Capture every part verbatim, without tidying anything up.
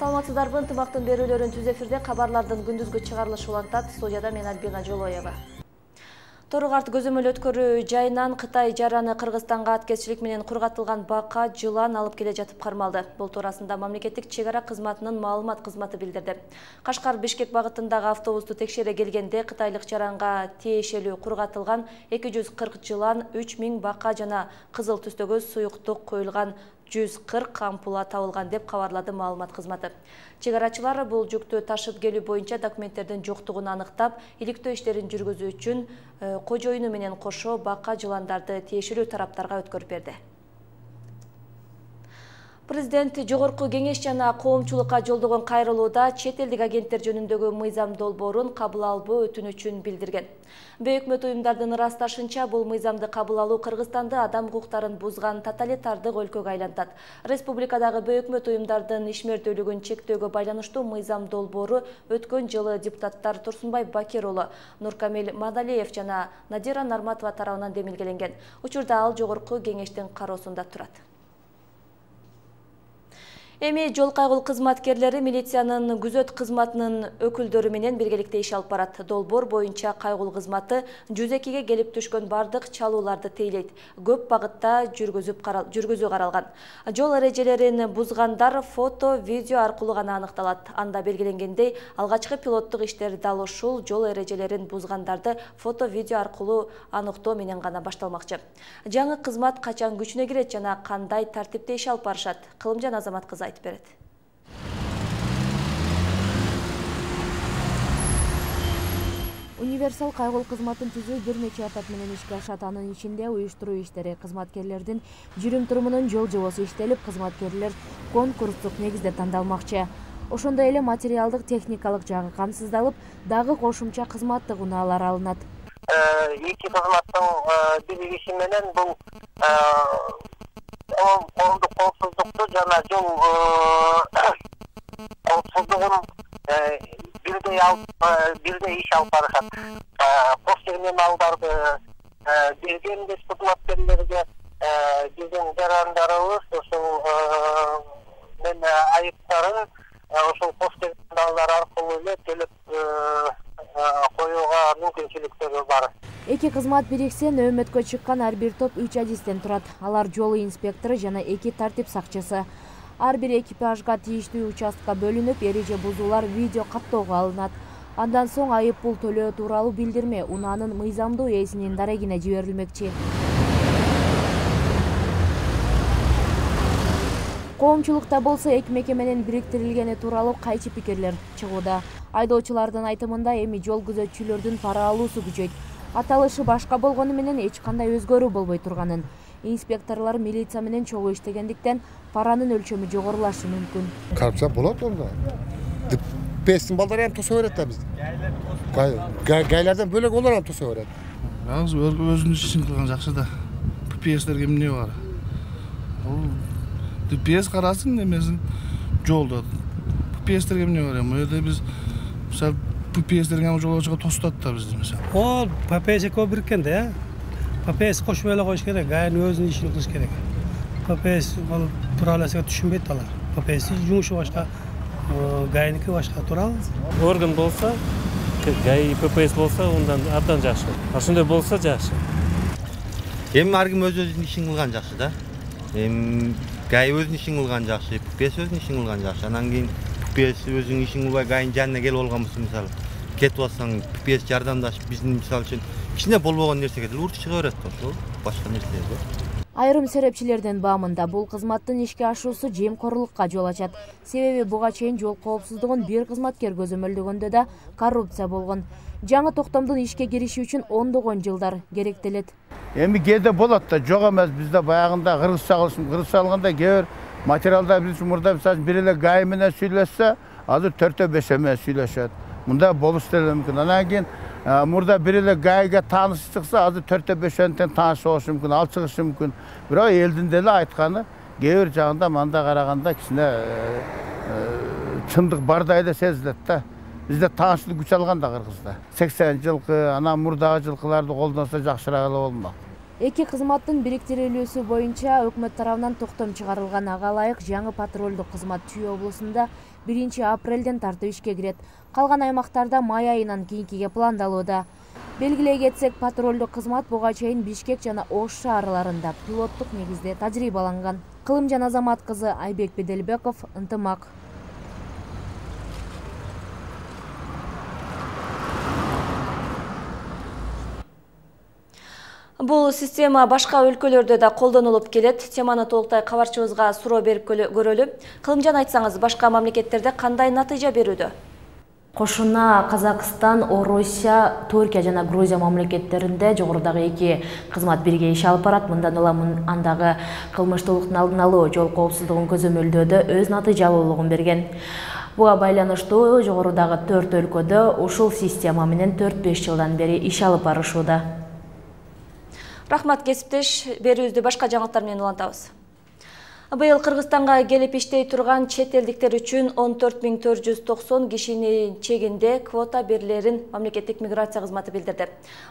Саламатсыздарбы, ынтымактын берүүлөрүн түз эфирде кабарлардын күндүзгү чыгарылышы улантат. Студияда мен Альбина Жолоева. Торугарт көзөмөл өткөрүү жайынан Кытай жараны Кыргызстанга аткезчилик менен кургатылган бака жылан алып келе жатып кармалды. Бул туурасында мамлекеттик чек ара кызматынын маалымат кызматы билдирди. Кашкар Бишкек багытындагы автобусту текшере келгенде кытайлык жаранга тиешелүү кургатылган эки жүз кырк жылан, үч миң бака жана кызыл түстөгү суюктук коюлган жүз кырк ампула табылган деп кабарлады маалымат кызматы. Чек арачылар бул жүктү ташып келүү боюнча документтердин жоктугун аныктап, иликтөө иштерин жүргүзүү үчүн кожоюну менен кошо бака жыландарды тиешелүү тараптарга өткөрүп берди. Президент Жогорку Кеңеш жана коомчулукка жолдогон кайрылууда чет элдик агенттер жөнүндөгү мыйзам долбоорун кабыл албоо өтүнүчүн билдирген. Бейөкмөт уюмдардын ырасташынча, бул мыйзамды кабыл алуу Кыргызстанды адам укуктарын бузган тоталитардык өлкөгө айлантат. Республикадагы бейөкмөт уюмдардын ишмердүүлүгүн чектөөгө байланыштуу мыйзам долбоору өткөн жылы депутаттар Турсунбай Бакир уулу, Нуркамил Мадалиев жана Надира Нарматова тарабынан демилгеленген. Учурда ал Жогорку Кеңештин кароосунда турат. Эми жол кайгыл кызматкерлери милициянын күзөт кызматынын өкүлдөрү менен биргеликте иш алып барат. Долбоор боюнча кайгыл кызматы жүз экиге келип түшкөн бардык чалууларды тейлейт. Көп багытта жүргүзүп карал, жүргүзүү каралган. Жол эрежелерин бузгандар фото, видео аркылуу гана аныкталат. Анда белгиленгендей, алгачкы пилоттук иштер дал ушул жол эрежелерин бузгандарды фото, видео аркылуу аныктоо менен гана башталмакчы. Жаңы кызмат качан күчүнө кирет жана кандай тартипте иш алып барышат? Кылымжан Азамат кызы айтып берет. Универсал кайгыл кызматын түзүү бир нече этап менен ишке ашат. Анын ичинде уюштуруу иштери, кызматкерлердин жүрүм-турумунун жол жобосу иштелип, кызматкерлер конкурстук негизде тандалмакчы. Ошондой эле материалдык техникалык жагы камсыздалып, дагы кошумча кызматтык унаалар алынат. Эки кызматтын биригиши менен бул коомдук коопсуздукту жана жол коопсуздугун бирдей алып бирдей иш алып барышат. Кош терминалдарды берген кызматкерлерге биздин жарандарыбыз ушул мен айыптарын ошол кош терминалдар аркылуу эле төлөп коюуга мүмкүнчүлүктөрү бар. Эки кызмат бириксе, нөөмөткө чыккан ар бир топ үч адистен турат. Алар жол инспектору жана эки тартип сакчысы. Ар бир экипажга тийиштүү участка бөлүнүп, эреже бузуулар видео каттоого алынат. Андан соң айып пул төлөө тууралуу билдирме унаанын мыйзамдуу ээсинин дарегине жиберилмекчи. Коомчулукта болсо эки мекеменин бириктирилгени тууралуу кайчы пикирлер чыгууда. Айдоочулардын айтымында эми жол күзөтчүлөрдүн пара алуусу күчөйт. Аталышы башка болгону менен эч кандай өзгөрүү болбой турганын. Инспекторлор милиция менен чогуу иштегендиктен паранын өлчөмү жогорулашы мүмкүн. Коррупция болот онда. Пестин балдары эми тоса берет да бизди. Гайлардан бөлөк олар эми тоса берет. Азыр өзүнүн ишин кылган жакшы да. П П S'терге эмне бар? Бул П П С карасын эмесин жолдо. П П S'терге эмне бар? Эми жерде биз мисалы П П S'терге жолоочуга тостат да бизди мисалы. Ол П П С көп бириккен да. П П С кошуп эле коюш керек, гайнын өзүнүн ишин кылыш керек. П П С ал тураласыга түшүнбөйт алар. П П С жумушу башка, гайники башка турал. Орган болсо, гай П П С болсо, ондан абдан жакшы. Ошондой болсо жакшы. Эми ар ким өз-өзүнүн ишин кылган жакшы да. Эми гай өзүнүн ишин кылган жакшы, П П С өзүнүн ишин кылган жакшы. Анан кийин П П С өзүнүн ишин кылбай гайнын жанына келип алган болсо, мисалы, кетип алсаң, П П С жардамдашып биздин мисалы үчүн кичине болбогон нерсеге деле урут чыга берет ошол, башка нерселерге. Айрым серепчилердин баамында бул кызматтын ишке ашуусу жемкорлукка жол ачат. Себеби буга чейин жол коопсуздугун бир кызматкер көзөмөлдөгөндө да коррупция болгон. Жаңы токтомдун ишке кириши үчүн ондогон жылдар керектелет. Эми кээде болот да, жок эмес. Бизде баягында кыргызча кылышым, кыргызча алганда кээ бир материалдар биз мурда мисалы бир эле гай менен сүйлөшсө, азыр төртөө бешөө менен сүйлөшөт. Мында болуш деле мүмкүн. Анан кийин мурда бир эле гайга тааныш чыкса, азыр төртөө бешөөнтен тааныш болушу мүмкүн, ал чыгышы мүмкүн. Бирок элдин деле айтканы кээ бир жагында мында караганда кичине чындык бардай эле сезилет да. Бизде таанычтуу күч алган да Кыргызда. сексен жылкы, анан мурдагы жылкыларды колдонсо жакшыраак эле болмок. Эки кызматтын бириктирилүүсү боюнча өкмөт тарабынан токтом чыгарылган. Ага ылайык жаңы патрулдук кызмат Чүй облусунда биринчи апрелден тартып ишке кирет. Калган аймактарда май айынан кийинкиге пландалууда. Белгилей кетсек, патрулдук кызмат буга чейин Бишкек жана Ош шаарларында пилоттук негизде тажрыйбаланган. Кылымжан Азамат кызы Айбек Беделбеков, Ынтымак. Бул система башка өлкөлөрдө да колдонулуп келет. Теманы толуктай кабарчыбызга суроо берип көрөлү. Кылымжан, айтсаңыз, башка мамлекеттерде кандай натыйжа берүүдө? Кошуна Казакстан, Орусия, Түркия жана Грузия мамлекеттеринде жогорудагы эки кызмат бирге иш алып барат. Мындан улам андагы кылмыштуулуктун алдын алуу, жол коопсуздугун көзөмөлдөөдө өз натыйжалуулугун берген. Буга байланыштуу жогорудагы төрт өлкөдө ушул система менен төрт беш жылдан бери иш алып барышууда. Рахмат, кесиптеш. Берүүбүздү башка жаңылыктар менен улантабыз. Быйыл Кыргызстанга келип иштей турган чет элдиктер үчүн он төрт миң төрт жүз токсон кишинин чегинде квота берилерин мамлекеттик миграция кызматы билдирди.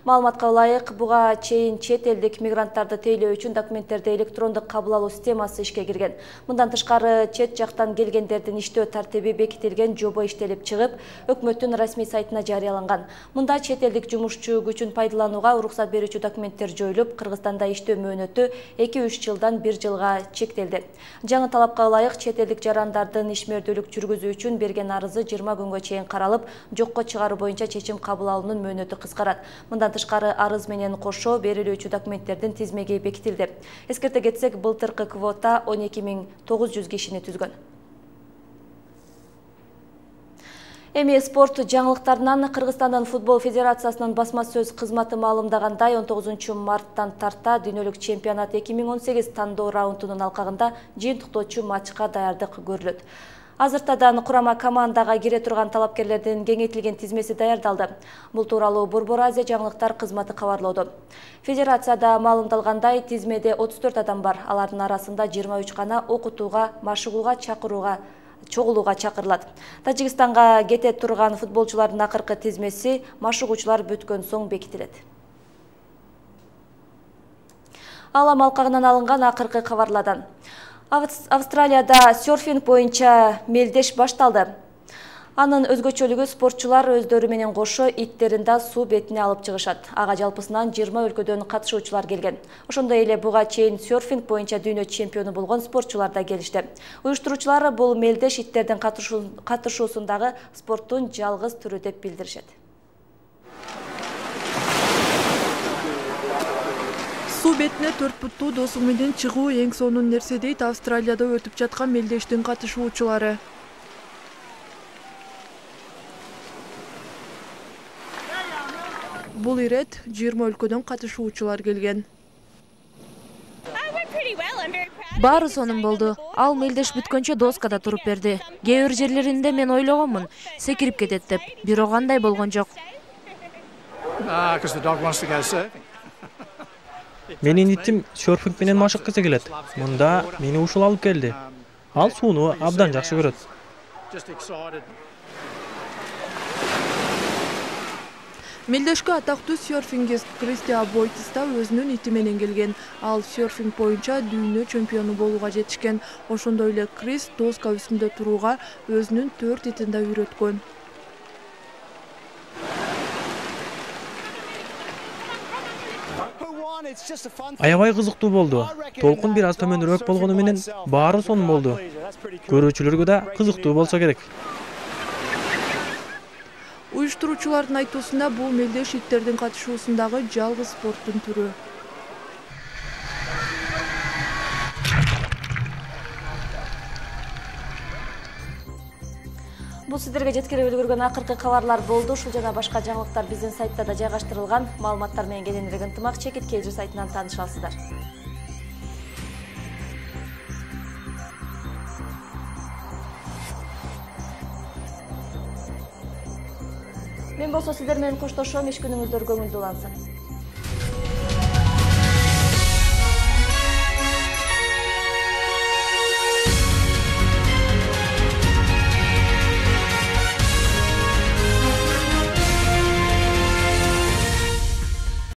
Маалыматка ылайык, буга чейин чет элдик мигранттарды тейлөө үчүн документтерди электрондук кабыл алуу системасы ишке кирген. Мындан тышкары, чет жактан келгендердин иштөө тартиби бекитилген жобо иштелип чыгып, өкмөттүн расмий сайтына жарыяланган. Мында чет элдик жумушчу күчүн пайдаланууга уруксат берүүчү документтер жоюлуп, Кыргызстанда иштөө мөөнөтү эки үч жылдан бир жылга чектелди. Жаңы талапка ылайык чет элдик жарандардын ишмердүүлүк жүргүзүү үчүн берген арызы жыйырма күнгө чейин каралып, жокко чыгаруу боюнча чечим кабыл алуунун мөөнөтү кыскарат. Мындан тышкары, арыз менен кошо берилүүчү документтердин тизмеги бекитилди. Эскерте кетсек, былтыркы квота он эки миң тогуз жүз кишини түзгөн. Эми спорт жаңылыктарынан Кыргызстандын футбол федерациясынын басма сөз кызматы маалымдагандай, он тогузунчу марттан тарта дүйнөлүк чемпионат эки миң он сегиз тандоо раундунун алкагында жыйынтыктоочу матчка даярдык көрүлөт. Азыртадан курама командага кире турган талапкерлердин кеңейтилген тизмеси даярдалды. Бул тууралуу Борбор Азия жаңылыктар кызматы кабарлоодо. Федерацияда маалымдалгандай, тизмеде отуз төрт адам бар. Алардын арасында жыйырма үч гана окутууга, машыгууга чакырууга чогулууга чакырылат. Тажикстанга кете турган футболчулардын акыркы тизмеси машыгуучулар бүткөн соң бекитилет. Алам алкагынан алынган акыркы кабарладан. Австралияда серфинг боюнча мелдеш башталды. Анын өзгөчөлүгү спортчулар өздөрү менен кошо иттерин да суу бетине алып чыгышат. Ага жалпысынан жыйырма өлкөдөн катышуучулар келген. Ошондой эле буга чейин серфинг боюнча дүйнө чемпиону болгон спортчулар да келишти. Уюштуруучулар бул мелдеш иттердин катышуусундагы спорттун жалгыз түрү деп билдиришет. Суу бетине төрт буттуу досу менен чыгуу эң сонун нерсе дейт Австралияда өтүп жаткан мелдештин катышуучулары. Бул ирет жыйырма өлкөдөн катышуучулар келген. Баары сонун болду. Ал мелдеш бүткөнчө доскада туруп берди. Кээ бир жерлеринде мен ойлогонмун, секирип кетет деп, бирок андай болгон жок. Менин итим серфинг менен машыккысы келет. Мында мени ушул алып келди. Ал сууну абдан жакшы көрөт. Мелдешке атактуу серфингист Кристиан Бойтис да өзүнүн ити менен келген. Ал серфинг боюнча дүйнө чемпиону болууга жетишкен. Ошондой эле Крис доска үстүндө турууга өзүнүн төрт итин да үйрөткөн. Аябай кызыктуу болду. Толкун бир аз төмөнүрөөк болгону менен баары сонун болду. Көрүүчүлөргө да кызыктуу болсо керек. Уюштуруучулардын айтуусунда бул мелдеш иттердин катышуусундагы жалгыз спорттун түрү. Бул сиздерге жеткирип үлгүргөн акыркы кабарлар болду. Ушул жана башка жаңылыктар биздин сайтта да жайгаштырылган. Маалыматтар менен кененирээк ынтымак чекит Кейжи сайтынан тааныша аласыздар. Мен болсо сиздер менен коштошом. Иш күнүңүздөр көңүлдүү улансын.